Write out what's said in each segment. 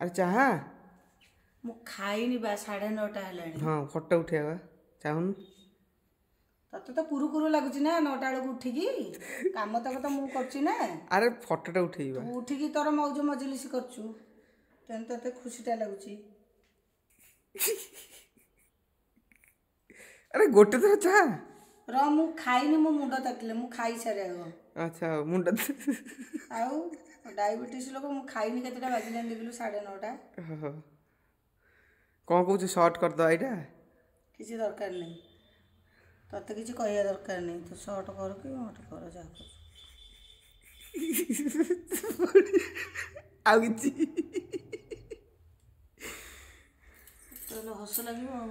ଆରେ ଚାହା। ମୁଁ ଖାଇନି ବା, 9:30 ହେଲାଣି। ହଁ, ଫଟୋ ଉଠେଇବା ଚାହୁଁନୁ? ତତେ ତ କୁରୁ କୁରୁ ଲାଗୁଛି ନା 9ଟା ବେଳକୁ ଉଠିକି, କାମ ତକ ତ ମୁଁ କରୁଛି ନା। ଆରେ ଫଟୋଟା ଉଠେଇବା। ତୁ ଉଠିକି ତୋର ମଉଜ ମଜଲିସ କରୁଛୁ, ତେଣୁ ତତେ ଖୁସିଟା ଲାଗୁଛି। ଆରେ ଗୋଟେ ଥର ଚାହା ର, ମୁଁ ଖାଇନି, ମୋ ମୁଣ୍ଡ ତାତିଲେ, ମୁଁ ଖାଇସାରେ ଆଗ। ଆଚ୍ଛା, ମୁଣ୍ଡ ଆଉ ଡାଇବେଟିସ୍ ଲୋକ, ମୁଁ ଖାଇନି। କେତେଟା ବାଜିଲାଣି ଦେଖିଲୁ? 9:30। କ'ଣ କହୁଛୁ, ସର୍ଟ କରିଦେବା ଏଇଟା? କିଛି ଦରକାର ନାହିଁ, ତତେ କିଛି କହିବା ଦରକାର ନାହିଁ। ତୁ ସର୍ଟ କର କି ମଟ କର, ଯାହା କରୁଛୁ। ଆଉ କିଛି ତାହେଲେ ହସ ଲାଗିବ ଆଉ।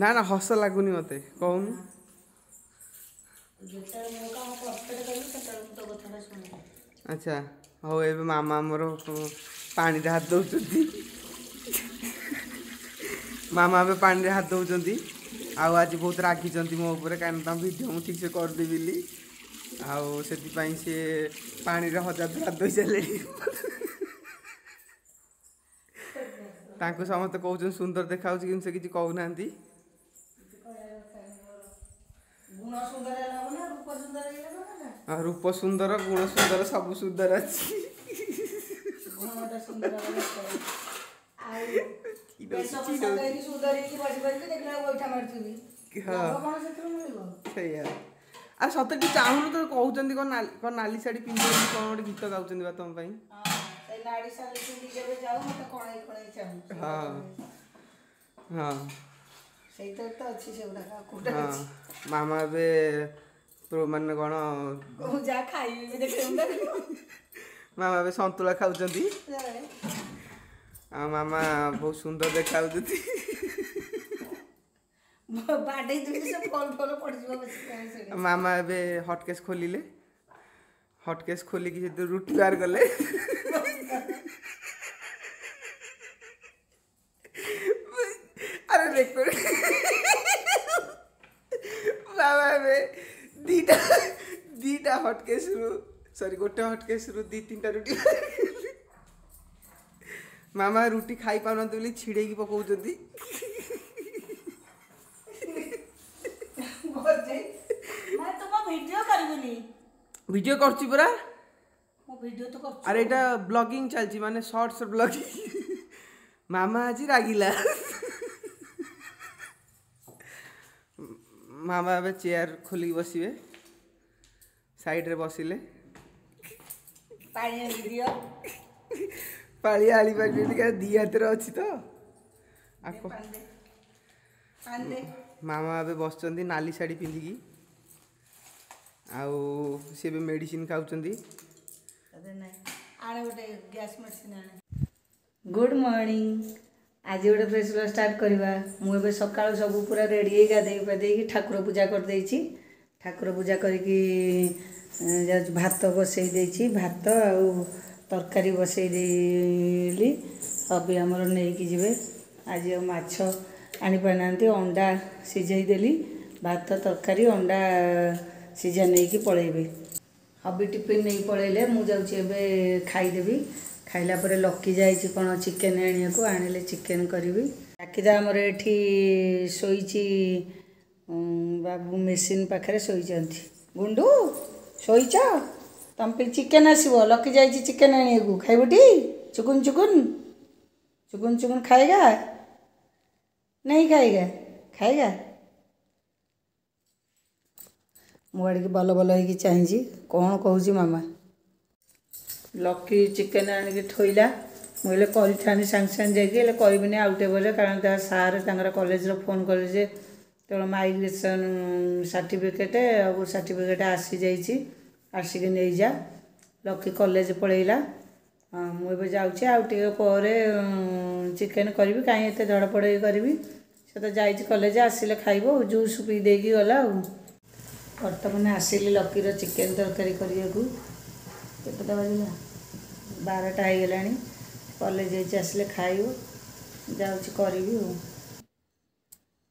ନା ନା, ହସ ଲାଗୁନି ମତେ, କହୁନୁ। ଯେତେବେଳେ ମୋ କାମ ପରଫେକ୍ଟ କରିବି, ସେତେବେଳେ ମୁଁ ତୋ କଥାଟା ଶୁଣିବି। ଆଚ୍ଛା ହଉ। ଏବେ ମାମା ଆମର ପାଣିରେ ହାତ ଦେଉଛନ୍ତି। ମାମା ଏବେ ପାଣିରେ ହାତ ଦେଉଛନ୍ତି ଆଉ ଆଜି ବହୁତ ରାଗିଛନ୍ତି ମୋ ଉପରେ, କାରଣ ତାଙ୍କ ଭିଡ଼ିଓ ମୁଁ ଠିକ୍ସେ କରିଦେବି ବୋଲି, ଆଉ ସେଥିପାଇଁ ସିଏ ପାଣିରେ ହଜାର ଥର ହାତ ଧୋଇ ସାରିଲେଣି। ତାଙ୍କୁ ସମସ୍ତେ କହୁଛନ୍ତି ସୁନ୍ଦର ଦେଖାଯାଉଛି, କିନ୍ତୁ ସେ କିଛି କହୁନାହାନ୍ତି। ଗୁଣ ସୁନ୍ଦର ହେଲେ ହବ ନା ରୂପ ସୁନ୍ଦର ହେଲେ ହବ ନା? ରୂପ ସୁନ୍ଦର, ଗୁଣ ସୁନ୍ଦର, ସବୁ ସୁନ୍ଦର ଅଛି। ଗୁଣଟା ସୁନ୍ଦର ହବା ଦରକାର। ଆଉ ବେଶ ପୋଷାକ ହେଇକି ସୁନ୍ଦର ହେଇକି ବସି ବସିକି ଦେଖିଲା ବେଳକୁ ଗୋଇଠା ମାରୁଥିବି, ଲାଭ କଣ ସେଥିରୁ ମିଳିବ? ସେଇଆ। ଆରେ ସତେ ଟିକେ ଚାହୁଁନୁ ତ, କହୁଛନ୍ତି କ'ଣ କ'ଣ ନାଲି ଶାଢ଼ୀ ପିନ୍ଧି କ'ଣ ଗୋଟେ ଗୀତ ଗାଉଛନ୍ତି ବା ତମ ପାଇଁ। ସେଇ ନାଲି ଶାଢ଼ୀ ପିନ୍ଧିକି ଯେବେ ଯାଉ, ମତେ କଣେଇ କଣେଇ ଚାହୁଁ। ହଁ ହଁ, ସେଇଥିରେ ତ ଅଛି ସେଗୁଡ଼ାକ, ଆଉ କୋଉଟା ଅଛି? ମାମା ଏବେ ମାନେ କ'ଣ ଯାହା ଖାଇବି ବି ଦେଖିବୁ। ମାମା ଏବେ ସନ୍ତୁଳା ଖାଉଛନ୍ତି ଆଉ ମାମା ବହୁତ ସୁନ୍ଦର ଦେଖାଯାଉଛନ୍ତି। ବାଡେଇ ଦେବି, ସେ ଫଲ ଫଲ ପଡ଼ିଯିବ। ମାମା ଏବେ ହଟକେସ୍ ଖୋଲିଲେ, ହଟକେସ୍ ଖୋଲିକି ସେଥିରୁ ରୁଟି ବାହାର କଲେ। ଆରେ ରେକର୍ଡ। ମାମା ଏବେ 2ଟା ହଟକେସ୍ରୁ, ସରି, ଗୋଟେ ହଟକେସ୍ରୁ 2 3ଟା ରୁଟି। ମାମା ରୁଟି ଖାଇପାରୁନାହାନ୍ତି ବୋଲି ଛିଡ଼େଇକି ପକଉଛନ୍ତି। ଭିଡ଼ିଓ କରିବୁନି? ଭିଡ଼ିଓ କରୁଛି ପରା। ଭିଡ଼ିଓ ତ କରୁଛୁ। ଆରେ ଏଇଟା ବ୍ଲଗିଂ ଚାଲିଛି, ମାନେ ସର୍ଟସ ବ୍ଲଗିଂ। ମାମା ଆଜି ରାଗିଲା। ମାମା ଏବେ ଚେୟାର ଖୋଲିକି ବସିବେ, ସାଇଡ଼ରେ ବସିଲେ। ପାଣି ଆଣିକି ଦିଅ। ପାଳି ଆଣି ପାରିବେନି, କାରଣ ଦି ହାତରେ ଅଛି ତ। ମାମା ଏବେ ବସିଛନ୍ତି ନାଲି ଶାଢ଼ୀ ପିନ୍ଧିକି, ଆଉ ସେ ଏବେ ମେଡ଼ିସିନ ଖାଉଛନ୍ତି। ଆଣେ ଗୋଟେ ଗ୍ୟାସ୍ ମେଡ଼ିସିନ ଆଣେ। Good morning. ଆଜି ଗୋଟେ ଫ୍ରେଶ୍ ଷ୍ଟାର୍ଟ କରିବା। ମୁଁ ଏବେ ସକାଳୁ ସବୁ ପୁରା ରେଡ଼ି ହେଇ ଗାଧେଇ ପାଧେଇକି ଠାକୁର ପୂଜା କରିଦେଇଛି। ଠାକୁର ପୂଜା କରିକି ଯାଉଛି, ଭାତ ବସେଇ ଦେଇଛି, ଭାତ ଆଉ ତରକାରୀ ବସେଇ ଦେଲି। ହବି ଆମର ନେଇକି ଯିବେ। ଆଜି ଆଉ ମାଛ ଆଣିପାରିନାହାନ୍ତି, ଅଣ୍ଡା ସିଝେଇ ଦେଲି। ଭାତ ତରକାରୀ ଅଣ୍ଡା ସିଝା ନେଇକି ପଳେଇବେ। ହବି ଟିଫିନ୍ ନେଇକି ପଳେଇଲେ, ମୁଁ ଯାଉଛି ଏବେ ଖାଇଦେବି। ଖାଇଲା ପରେ ଲକି ଯାଇଛି କ'ଣ ଚିକେନ୍ ଆଣିବାକୁ, ଆଣିଲେ ଚିକେନ୍ କରିବି। ଡାକିଦା ଆମର ଏଠି ଶୋଇଛି, ବାବୁ ମେସିନ୍ ପାଖରେ ଶୋଇଛନ୍ତି। ଗୁଣ୍ଡୁ, ଶୋଇଛ? ତମ ପାଇଁ ଚିକେନ୍ ଆସିବ, ଲକି ଯାଇଛି ଚିକେନ୍ ଆଣିବାକୁ। ଖାଇବୁଟି? ଚୁକୁନ ଚୁକୁନ ଚୁକୁନ ଚୁକୁନ ଖାଏଗା? नहीं ଖାଏଗା? ଖାଏଗା? ମୁଁ ଆଡ଼ିକି ବଲ ବଲ ହେଇକି ଚାହିଁଛି, କ'ଣ କହୁଛି ମାମା। ଲକି ଚିକେନ୍ ଆଣିକି ଥୋଇଲା। ମୁଁ ହେଲେ କରିଥାନ୍ତି ସାଙ୍ଗେ ସାଙ୍ଗେ ଯାଇକି, ହେଲେ କରିବିନି, ଆଉ ଟିକେ ପରେ, କାରଣ ତା ସାର୍ ତାଙ୍କର କଲେଜର ଫୋନ୍ କଲେ ଯେ ତୋର ମାଇଗ୍ରେସନ୍ ସାର୍ଟିଫିକେଟ୍ ଆଉ ସାର୍ଟିଫିକେଟ୍ ଆସିଯାଇଛି, ଆସିକି ନେଇଯା। ଲକି କଲେଜ ପଳେଇଲା। ମୁଁ ଏବେ ଯାଉଛି, ଆଉ ଟିକେ ପରେ ଚିକେନ୍ କରିବି। କାହିଁ ଏତେ ଧଡ଼ପଡ଼ ହେଇ କରିବି? ସେ ତ ଯାଇଛି କଲେଜ, ଆସିଲେ ଖାଇବ। ଜୁସ୍ ପିଇ ଦେଇକି ଗଲା। ଆଉ ବର୍ତ୍ତମାନ ଆସିଲି ଲକିର ଚିକେନ୍ ତରକାରୀ କରିବାକୁ। କେତେଟା ବାଜିଲା? 12ଟା ହେଇଗଲାଣି। କଲେଜ ଯାଇଛି, ଆସିଲେ ଖାଇବ। ଯାଉଛି କରିବି। ଆଉ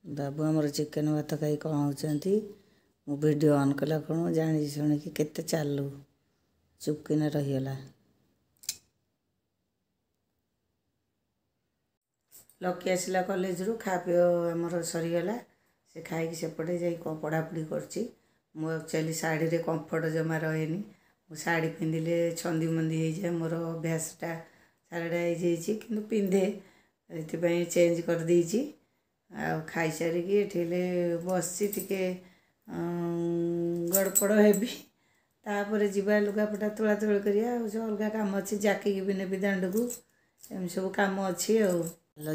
ବାବୁ ଆମର ଚିକେନ୍ ଭାତ ଖାଇ କ'ଣ ହେଉଛନ୍ତି? ମୁଁ ଭିଡ଼ିଓ ଅନ୍ କଲା କ'ଣ ଜାଣି ଶୁଣିକି କେତେ ଚାଲୁ, ଚୁପକିନା ରହିଗଲା। ଲକି ଆସିଲା କଲେଜରୁ, ଖା ପିଅ ଆମର ସରିଗଲା। ସେ ଖାଇକି ସେପଟେ ଯାଇ କ'ଣ ପଢ଼ାପଢ଼ି କରୁଛି। ମୁଁ ଆକ୍ଚୁଆଲି ଶାଢ଼ୀରେ କମ୍ଫର୍ଟ ଜମା ରହେନି। ମୁଁ ଶାଢ଼ୀ ପିନ୍ଧିଲେ ଛନ୍ଦି ମନ୍ଦି ହେଇଯାଏ। ମୋର ଅଭ୍ୟାସଟା ଶାଢ଼ୀଟା ହେଇଯାଇଛି, କିନ୍ତୁ ପିନ୍ଧେ, ସେଥିପାଇଁ ଚେଞ୍ଜ କରିଦେଇଛି। ଆଉ ଖାଇସାରିକି ଏଠି ହେଲେ ବସିଛି, ଟିକେ ଗଡ଼ପଡ଼ ହେବି, ତାପରେ ଯିବା ଲୁଗାପଟା ତୋଳା ତୋଳି କରିବା। ଆଉ ସବୁ ଅଲଗା କାମ ଅଛି, ଜାକିକି ବି ନେବି ଦାଣ୍ଡକୁ, ଏମିତି ସବୁ କାମ ଅଛି। ଆଉ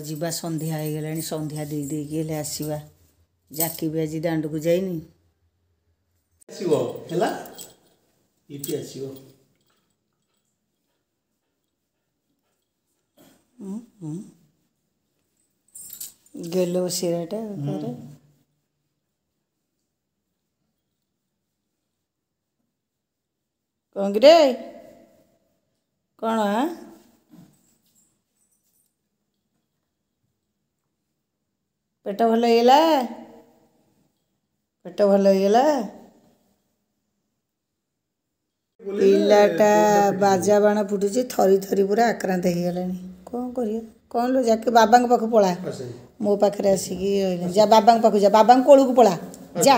ଯିବା, ସନ୍ଧ୍ୟା ହେଇଗଲାଣି, ସନ୍ଧ୍ୟା ଦେଇ ଦେଇକି ହେଲେ ଆସିବା। ଜାକି ବି ଆଜି ଦାଣ୍ଡକୁ ଯାଇନି। ଆସିବ ହେଲା, ଲିପି ଆସିବ। ଗେଲ ଶିରାଟା କରେ କ'ଣ କିରେ? କ'ଣ ପେଟ ଭଲ ହେଇଗଲା? ପେଟ ଭଲ ହେଇଗଲା? ପିଲାଟା ବାଜା ବାଣ ଫୁଟୁଛି, ଥରି ଥରି ପୁରା ଆକ୍ରାନ୍ତ ହେଇଗଲାଣି। କ'ଣ କରିବା? କ'ଣ ଲୋ ଯାକି, ବାବାଙ୍କ ପାଖକୁ ପଳା। ମୋ ପାଖରେ ଆସିକି ରହିଲା। ଯା ବାବାଙ୍କ ପାଖକୁ ଯା, ବାବାଙ୍କ କୋଳକୁ ପଳା ଯା।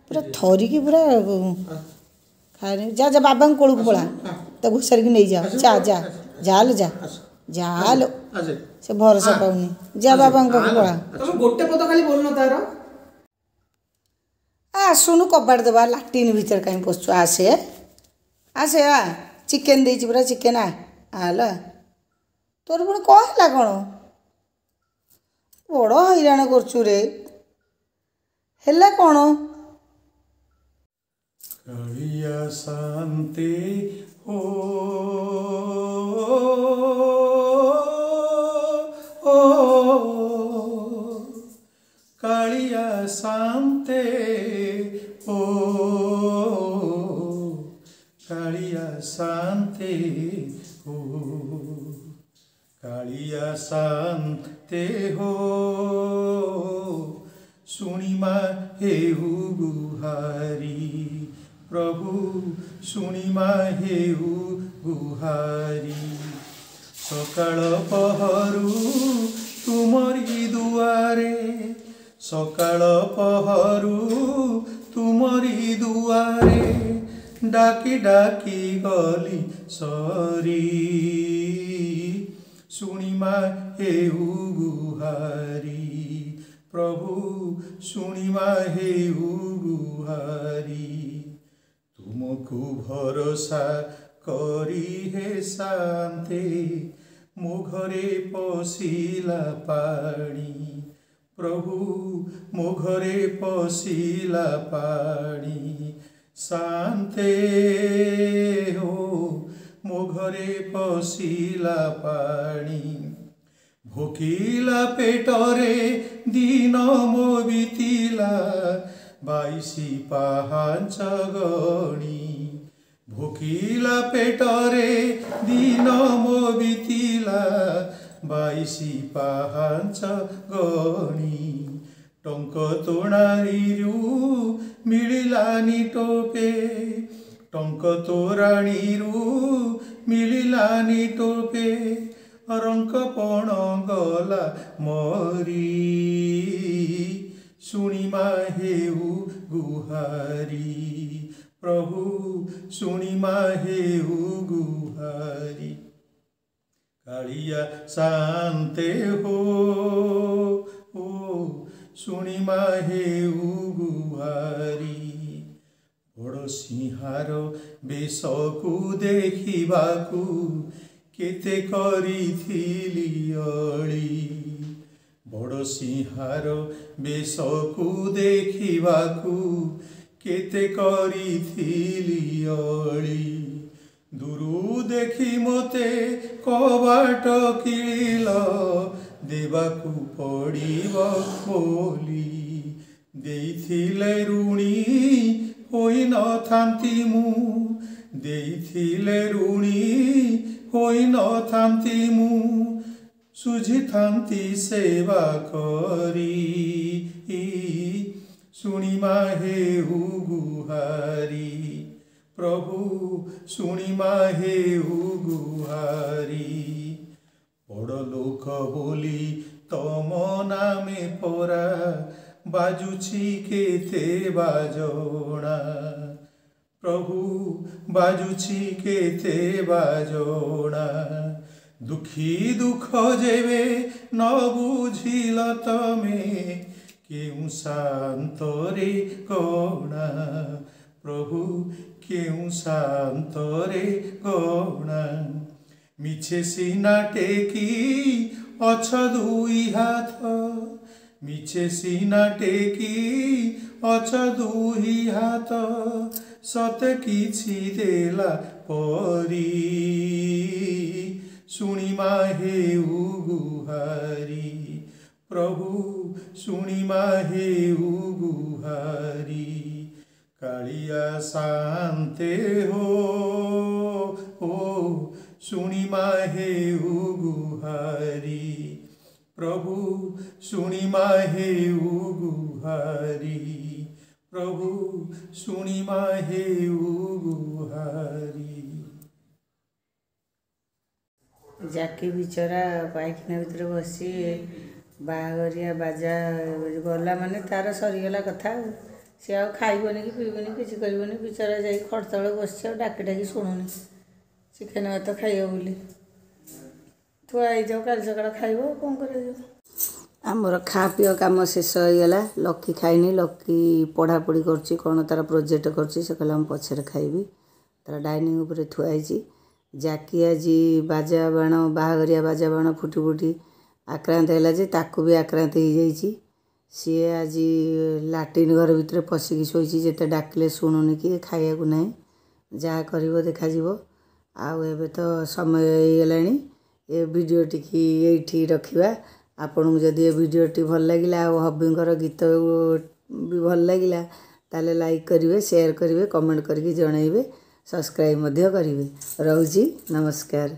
ପୁରା ଥରିକି ପୁରା ଖାଏନି। ଯା ଯା, ବାବାଙ୍କ କୋଳକୁ ପଳା, ତାକୁ ଘୋଷାରିକି ନେଇଯାଅ। ଯା ଯା ଯା ଲୋ, ଯା ଯା ଲୋ, ସେ ଭରସା ପାଉନି। ଯା ବାବାଙ୍କ ପାଖକୁ ପଳା। ତମେ ଗୋଟେ ପଦ ଖାଲି ବୋଲୁନ ତାର। ଆସୁନୁ, କବାଟ ଦେବା। ଲାଟିନ୍ ଭିତରେ କାହିଁ ପଶୁଛୁ? ଆସେ ଆସେ, ଆ। ଚିକେନ୍ ଦେଇଛି ପୁରା, ଚିକେନ୍। ଆ ହେଲା। ତୋର ପୁଣି କ'ଣ ହେଲା? କ'ଣ ବଡ଼ ହଇରାଣ କରୁଛୁ ରେ? ହେଲା କ'ଣ? କାଳିଆ ଶାନ୍ତି ହୋ, କାଳିଆ ଶାନ୍ତେ ଓ, କାଳିଆ ଶାନ୍ତେ ହୋ, କାଳିଆ ଶାନ୍ତେ ହୋ, ଶୁଣିମା ହେଉ ଗୁହାରି ପ୍ରଭୁ, ଶୁଣିମା ହେଉ ଗୁହାରି। ସକାଳ ପହରୁ ତୁମରି ଦୁଆରେ, ସକାଳ ପହରୁ ତୁମରି ଦୁଆରେ ଡାକି ଡାକି ଗଲି ସରି, ଶୁଣିମା ହେଉ ଗୁହାରି ପ୍ରଭୁ, ଶୁଣିମା ହେଉ ଗୁହାରି। ତୁମକୁ ଭରସା କରି ହେ ଶାନ୍ତେ, ମୋ ଘରେ ପଶିଲା ପାଣି ପ୍ରଭୁ, ମୋ ଘରେ ପଶିଲା ପାଣି ଶାନ୍ତେ ହୋ, ମୋ ଘରେ ପଶିଲା ପାଣି। ଭୋକିଲା ପେଟରେ ଦିନ ମୋ ବିତିଲା 22 ପାହାଞ୍ଚ ଗଣି, ଭୋକିଲା ପେଟରେ ଦିନ ମୋ ବିତିଲା 22 ପାହାଞ୍ଚ ଗଣି। ଟଙ୍କ ତୋଣାରୀରୁ ମିଳିଲାନି ଟୋପେ, ଟଙ୍କ ତୋରାଣୀରୁ ମିଳିଲାନି ଟୋପେ, ରଙ୍କ ପଣ ଗଲା ମରି, ଶୁଣିମା ହେଉ ଗୁହାରି ପ୍ରଭୁ, ଶୁଣିମା ହେଉ ଗୁହାରି। କାଳିଆ ଶାନ୍ତେ ହୋ ଓ, ଶୁଣିମା ହେଉ ଗୁହାରି। ବଡ଼ ସିଂହାର ବେଶକୁ ଦେଖିବାକୁ କେତେ କରିଥିଲି ଅଳି, ବଡ଼ ସିଂହାର ବେଶକୁ ଦେଖିବାକୁ କେତେ କରିଥିଲି ଅଳି। ଦୂରୁ ଦେଖି ମୋତେ କବାଟ କିଳିଲ, ଦେବାକୁ ପଡ଼ିବ ବୋଲି। ଦେଇଥିଲେ ଋଣୀ ହୋଇନଥାନ୍ତି ମୁଁ, ଦେଇଥିଲେ ଋଣୀ ହୋଇନଥାନ୍ତି ମୁଁ, ସୁଝିଥାନ୍ତି ସେବା କରି, ଶୁଣିମା ହେଉ ଗୁହାରି ପ୍ରଭୁ, ଶୁଣିମା ହେଉ ଗୁହାରି। ବଡ଼ ଲୋକ ବୋଲି ତମ ନାମେ ପରା ବାଜୁଛି କେତେ ବାଜଣା, ପ୍ରଭୁ ବାଜୁଛି କେତେ ବାଜଣା। ଦୁଃଖୀ ଦୁଃଖ ଯେବେ ନ ବୁଝିଲ ତମେ, କେଉଁ ଶାନ୍ତରେ ଗଣା, ପ୍ରଭୁ କେଉଁ ଶାନ୍ତରେ ଗଣା। ମିଛେ ସିନା ଟେକି ଅଛ ଦୁଇ ହାତ, ମିଛେ ସିନା ଟେକି ଅଛ ଦୁଇ ହାତ, ସତେ କିଛି ଦେଲା ପରି। ଶୁଣିମା ହେଉ ଗୁହାରି, ପ୍ରଭୁ ଶୁଣିମା ହେଉ ଗୁହାରି। କାଳିଆ ଶାନ୍ତେ ହୋ ଓ, ଶୁଣିମା ହେଉ ଗୁହାରି, ପ୍ରଭୁ ଶୁଣିମା ହେଉ ଗୁହାରି, ପ୍ରଭୁ ଶୁଣିମା ହେଉ ଗୁହାରି। ଜାକି ବିଚରା ପାଇଖାନା ଭିତରେ ବସି ବାହାଘରିଆ ବାଜା ଗଲା ମାନେ ତାର ସରିଗଲା କଥା, ଆଉ ସିଏ ଆଉ ଖାଇବନି କି ପିଇବନି, କିଛି କରିବନି। ବିଚରା ଯାଇ ଖଟ ତଳେ ବସିଛି, ଆଉ ଡାକି ଡାକି ଶୁଣୁନି। ଚିକେନ୍ ଭାତ ଖାଇବ ବୋଲି ଥୁଆ ହେଇଯାଉ, କାଲି ସକାଳେ ଖାଇବ, ଆଉ କ'ଣ କରାଯିବ? ଆମର ଖା ପିଅ କାମ ଶେଷ ହେଇଗଲା। ଲକି ଖାଇନି, ଲକି ପଢ଼ାପଢ଼ି କରୁଛି, କ'ଣ ତାର ପ୍ରୋଜେକ୍ଟ କରୁଛି। ସେ କହିଲା ମୁଁ ପଛରେ ଖାଇବି। ତାର ଡାଇନିଂ ଉପରେ ଥୁଆ ହେଇଛି। ଜାକି ଆଜି ବାଜା ବାଣ, ବାହାଘରିଆ ବାଜା ବାଣ ଫୁଟି ଫୁଟି ଆକ୍ରାନ୍ତ ହେଲା ଯେ ତାକୁ ବି ଆକ୍ରାନ୍ତ ହେଇଯାଇଛି। ସିଏ ଆଜି ଲାଟ୍ରିନ୍ ଘର ଭିତରେ ପଶିକି ଶୋଇଛି, ଯେତେ ଡାକିଲେ ଶୁଣୁନି କି ଖାଇବାକୁ ନାହିଁ। ଯାହା କରିବ ଦେଖାଯିବ। ଆଉ ଏବେ ତ ସମୟ ହେଇଗଲାଣି, ଏ ଭିଡ଼ିଓଟିକି ଏଇଠି ରଖିବା। ଆପଣଙ୍କୁ ଯଦି ଏ ଭିଡ଼ିଓଟି ଭଲ ଲାଗିଲା ଆଉ ହବିଙ୍କର ଗୀତ ବି ଭଲ ଲାଗିଲା, ତାହେଲେ ଲାଇକ୍ କରିବେ, ସେୟାର କରିବେ, କମେଣ୍ଟ କରିକି ଜଣାଇବେ, ସବସ୍କ୍ରାଇବ୍ ମଧ୍ୟ କରିବେ। ରହୁଛି, ନମସ୍କାର।